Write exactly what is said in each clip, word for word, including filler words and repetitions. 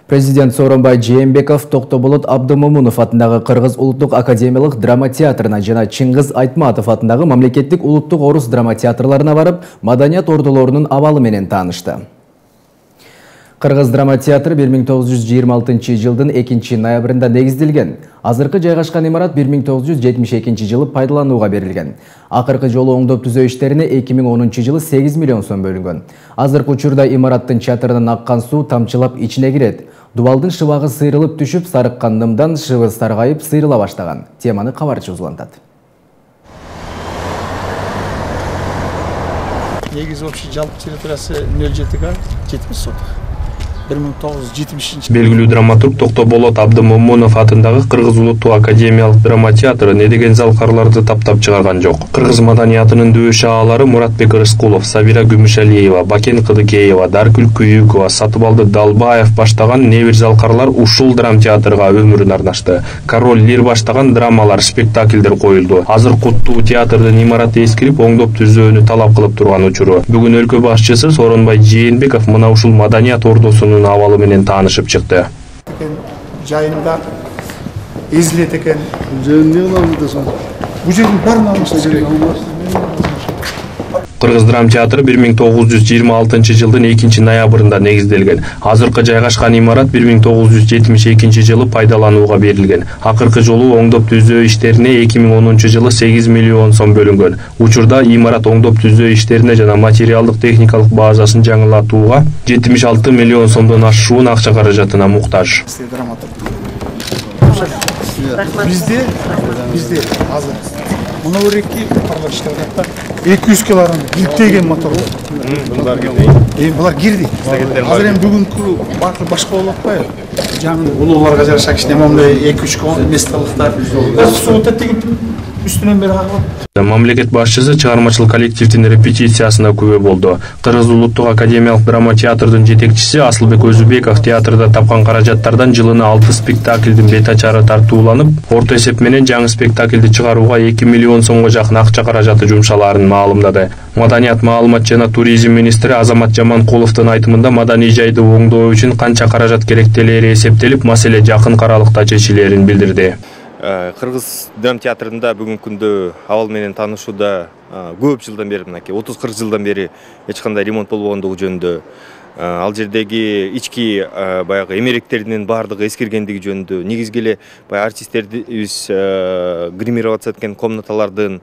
Президент Сооронбай Жээнбеков Токтоболот Абдымомунов атындагы Кыргыз улуттук академиялык драма театрына жана Чыңгыз Айтматов атындагы мамлекеттик улуттук орус драма театрларына барып, маданият ордолорунун абалы менен таанышты. Кыргыз драма театры бир миң тогуз жүз жыйырма алтынчы жылдын экинчи ноябрында негизделген. Азыркы жайгашкан имарат бир миң тогуз жүз жетимиш экинчи жылы пайдаланууга берилген. Акыркы жолу оңдоп түзөө иштерине эки миң онунчу жылы сегиз миллион сом бөлүнгөн. Азыркы учурда имараттын чатырынан аккан суу тамчылап ичине кирет. Дубалдын шыбагы сыйрылып түшүп, сарыккан дымдан шыбы саргайып сыйрыла баштаган. Теманы кабарчы узулантат. Негизи общий жалпы территориясы нөл жети га жетимиш соток. бир миң тогуз жүз жетимишинчи Белгилүү драматург Токтоболот Абдымомунов атындагы Кыргыз улуттук академиялык драма театры недеген залкарларды таптап чыгарган жок. Кыргыз маданиятынын дөшө аалары Муратбек Рыскулов, Сабира Күмүшалиева, Бакен Кыдыкеева, Даркүл Күйүкова, Сатыбалды Далбаев баштаган небир залкарлар ушул драм театрга өмүрүн арнашты. Король Лир баштаган драмалар, спектакльдер коюлду. Азыр куттуу театрдын имараты эскирип, оңдоп түзөөнү талап кылып турган учуру. Бүгүн өлкө башчысы Сооронбай Жээнбеков мына ушул маданият ордосунун абалы менен таанышып чыкты. Жайында эзилет экен. Жайын не кыламыз десең? Бул жердин баарын алыш керек. Кыргыз драм театры бир миң тогуз жүз жыйырма алтынчы жылдын экинчи ноябрында негизделген. Азыркы жайгашкан имарат бир миң тогуз жүз жетимиш экинчи жылы пайдаланууга берилген. Акыркы жолу оңдоп түзөө иштерине эки миң онунчу жылы сегиз миллион сом бөлүнгөн. Учурда имарат оңдоп түзөө иштерине жана материалдык техникалык базасын жаңылатууга жетимиш алты миллион сомдон ашуун акча каражатына муктаж. Бизде бизде азыр мына өрекки парлар иштеп атат. эки жүз килограмм илтеген мотор. Булар кирди. Эми булар кирди. Азыр эми бүгүнкү бакы башка болуп атпайбы? Жаңы улууларга жараша кичине момундай эки үч месталыктар. Суу тетигип үстүнөн бери кагылып. Мамлекет башчысы чыгармачылык коллективдин репетициясына күбө болду. Кыргыз улуттук академиялык драма театрдын жетекчиси Асылбек Өзүбеков театрда тапкан каражаттардан жылына алты спектаклдин бет ачары тартууланып, орто эсеп менен жаңы спектаклди чыгарууга эки миллион сомго жакын акча каражаты жумшалаарын маалымдады. Маданият, маалымат жана туризм министри Азамат Жаманкуловдун айтымында маданий жайды оңдоо үчүн канча каражат керектелери эсептелип, маселе жакын аралыкта чечилерин билдирди. Кыргыз драм театрында бүгүнкү күндө абал менен таанышууда көп жылдан бери, мынакей отуз кырк жылдан бери эч кандай ремонт болбогондугу жөнүндө, ал жердеги ички баягы эмеректердин баардыгы эскиргендиги жөнүндө, негизги эле баягы артисттерибиз гримироваться эткен комнаталардын,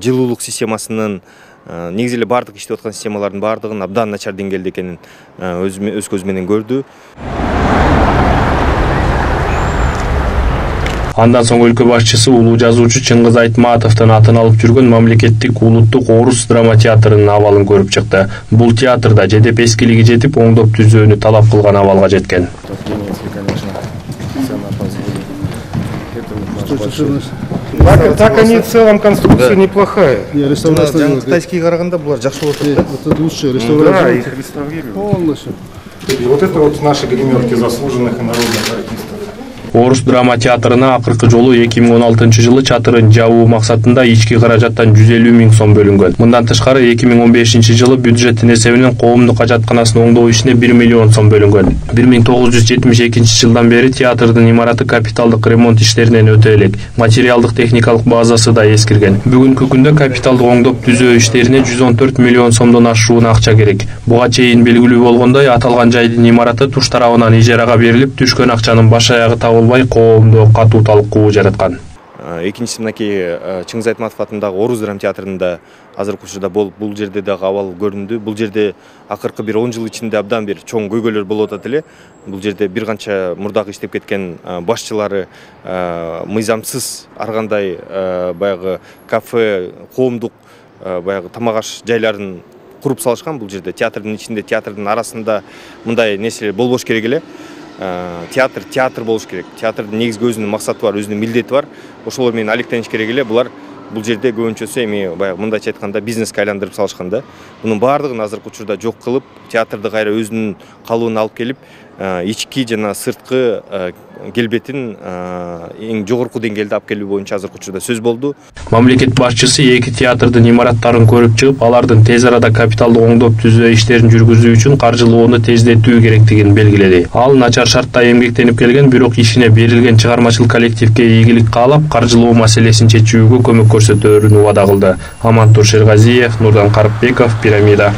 жылуулук системасынын, негизи эле баардык иштеп аткан системалардын баардыгын абдан начар деңгээлде экенин өз көзү менен көрдү. Андан соң өлкө башчысы улуу жазуучу Чыңгыз Айтматовдун атын алып жүргөн мамлекеттик улуттук орус драма театрынын абалын көрүп чыкты. Бул театрда жедеп эскилиги жетип, оңдоп түзөөнү талап кылган абалга жеткен. Так они в целом конструкция неплохая. Реставрация. Китайские караганда булар жакшы болот. Это лучше реставрация. Да, их реставрируют. Полностью. И вот это вот наши гримерки заслуженных и народных артистов. Орус драма театрына акыркы жолу эки миң он алтынчы жылы чатырын жабуу максатында ички каражаттан жүз элүү миң сом бөлүнгөн. Мындан тышкары эки миң он бешинчи жылы бюджеттин эсебинен коомдук ажатканасын оңдоо ишине бир миллион сом бөлүнгөн. бир миң тогуз жүз жетимиш экинчи жылдан бери театрдын имараты капиталдык ремонт иштеринен өтө элек. Материалдык техникалык базасы да эскирген. Бүгүнкү күндө капиталдык оңдоп түзөө иштерине жүз он төрт миллион сомдон ашуун акча керек. Буга чейин белгилүү болгондой, аталган жайдын имараты туш тарабынан ижарага берилип, түшкөн акчанын баш аягы табылбай, коомдо катуу талкуу жараткан. Экинчиси мынакей Чыңгыз Айтматов атындагы Орус драм театрында азыркы учурда бул жерде дагы абал көрүндү. Бул жерде акыркы бир он жыл ичинде абдан бир чоң көйгөйлөр болуп атат эле. Бул жерде бир канча мурдагы иштеп кеткен башчылары мыйзамсыз ар кандай баягы кафе, коомдук баягы тамак аш жайларын куруп салышкан. Бул жерде театрдын ичинде, театрдын арасында мындай нерселер болбош керек эле. Театр театр болуш керек. Театрдын негизги өзүнүн максаты бар, өзүнүн милдети бар. Ошолор менен алектениш керек эле. Булар бул жерде көбүнчөсү эми баягы мындайча айтканда бизнеске айландырып салышкан да. Мунун баардыгын азыркы учурда жок кылып, театрды кайра өзүнүн калыбына алып келип, ички жана сырткы келбетин эң жогорку деңгээлде алып келүү боюнча азыркы учурда сөз болду. Мамлекет башчысы эки театрдын имараттарын көрүп чыгып, алардын тез арада капиталдык оңдоп түзөө иштерин жүргүзүү үчүн каржылоону тездетүү керектигин белгиледи. Ал начар шартта эмгектенип келген, бирок ишине берилген чыгармачыл коллективге ийгилик каалап, каржылоо маселесин чечүүгө көмөк көрсөтөөрүн убада кылды. Амантур Шергазиев, Нурдан Карыпбеков, Пирамида.